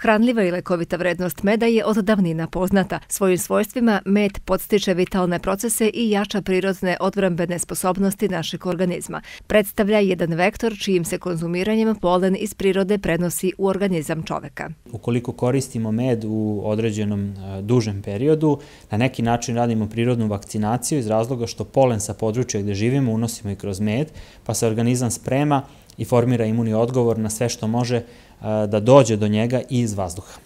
Hranljiva i lekovita vrednost meda je od davnina poznata. Svojim svojstvima med podstiče vitalne procese i jača prirodne odbrambene sposobnosti našeg organizma. Predstavlja jedan vektor čijim se konzumiranjem polen iz prirode prenosi u organizam čoveka. Ukoliko koristimo med u određenom dužem periodu, na neki način radimo prirodnu vakcinaciju iz razloga što polen sa područja gde živimo unosimo i kroz med, pa se organizam sprema i formira imunni odgovor na sve što može da dođe do njega i iz vazduha.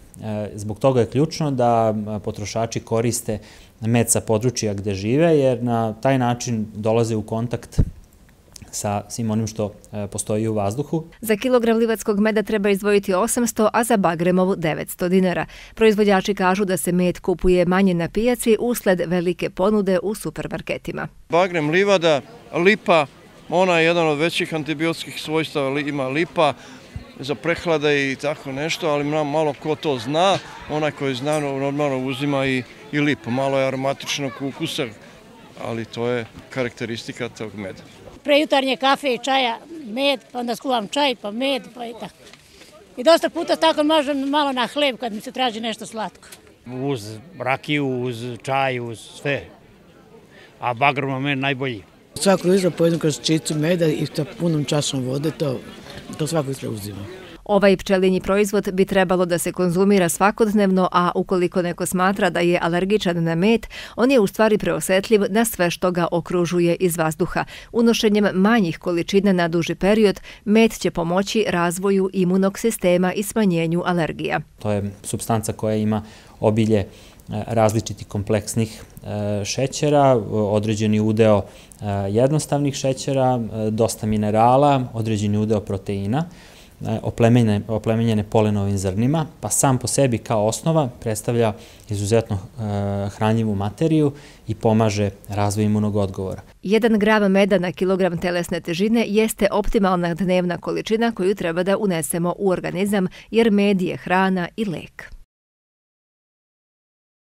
Zbog toga je ključno da potrošači koriste med sa područja gde žive, jer na taj način dolaze u kontakt sa svim onim što postoji u vazduhu. Za kilogram livatskog meda treba izdvojiti 800, a za bagremov 900 dinara. Proizvođači kažu da se med kupuje manje na pijaci usled velike ponude u supermarketima. Bagrem, livada, lipa, ona je jedan od većih antibiotskih svojstava, ima lipa za prehlade i tako nešto, ali malo ko to zna, onaj koji zna normalno uzima i lipu. Malo je aromatičnog ukusa, ali to je karakteristika tog meda. Pre jutarnje kafe i čaja med, pa onda skuvam čaj, pa med, pa i tako. I dosta puta tako možem malo na hleb kad mi se traži nešto slatko. Uz rakiju, uz čaj, uz sve. A bagremov med najbolji. Svako jutro pojedem kroz čicu meda i sa punom čašom vode, to svako jutro uzima. Ovaj pčelinji proizvod bi trebalo da se konzumira svakodnevno, a ukoliko neko smatra da je alergičan na med, on je u stvari preosetljiv na sve što ga okružuje iz vazduha. Unošenjem manjih količina na duži period, med će pomoći razvoju imunog sistema i smanjenju alergija. To je supstanca koja ima obilje različitih kompleksnih šećera, određeni udeo jednostavnih šećera, dosta minerala, određeni udeo proteina, oplemenjene polenovim zrnima, pa sam po sebi kao osnova predstavlja izuzetno hranljivu materiju i pomaže razvoju imunog odgovora. 1 gram meda na kilogram telesne težine jeste optimalna dnevna količina koju treba da unesemo u organizam, jer med je hrana i lek.